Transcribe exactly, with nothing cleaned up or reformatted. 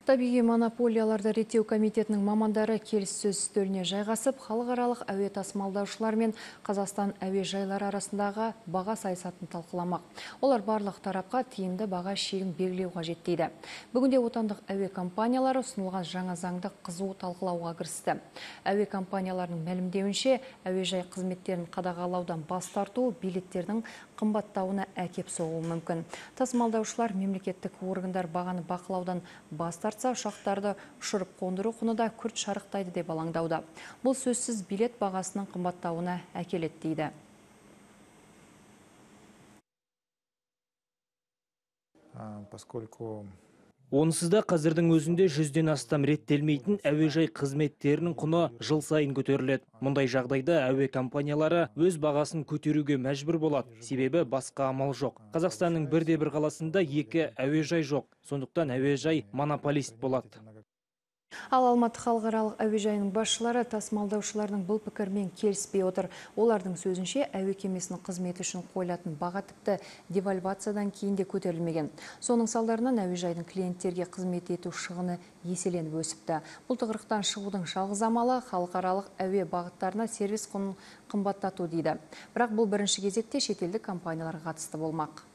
Табиғи монополияларды реттеу комитетінің мамандары келіссөз үстеліне жайғасып, халықаралық әуе тасымалдаушылар мен Қазақстан әуежайлары арасындағы баға саясатын талқыламақ. Олар барлық тарапқа тиімді баға шегін белгілеу қажет дейді. Бүгінде отандық әуе компаниялары ұсынылған жаңа заңды қызу талқылауға кірісті. Әуе компанияларының мәлімдеуінше, әуежай қызметтерін қадағалаудан бас тарту билеттердің қымбаттауына әкеп соғуы мүмкін. Тасымалдаушылар мемлекеттік органдар бағаны бақылаудан бас тартса, ұшақтарды ұшырып қондыру құны да күрт шарықтайды деп алаңдауда. Бұл сөзсіз билет бағасының қымбаттауына әкеледі дейді. Поскольку Онсыз да қазірдің өзінде жүзден астам реттелмейтін әуежай қызметтерінің құны жыл сайын көтеріледі. Мұндай жағдайда әуе компаниялары өз бағасын көтеруге мәжбүр болады. Себебі басқа амал жоқ. Қазақстанның бірде бір қаласында екі әуежай жоқ. Сондықтан әуежай монополист болады. Ал Алматы халықаралық әуежайының басшылары тасымалдаушылардың бұл пікірмен келіспей отыр. Олардың сөзінше, әуе кемесінің қызметі үшін қойылатын баға тіпті девальвациядан кейін де көтерілмеген. Соның салдарынан әуежайдың клиенттерге қызмет ету шығыны еселеніп өсіпті. Бұл тығырықтан шығудың жалғыз амалы халықаралық әуе бағыттарына сервис құнын қымбаттату дейді. Бірақ бұл бірінші кезекте шетелдік компанияларға қатысты болмақ.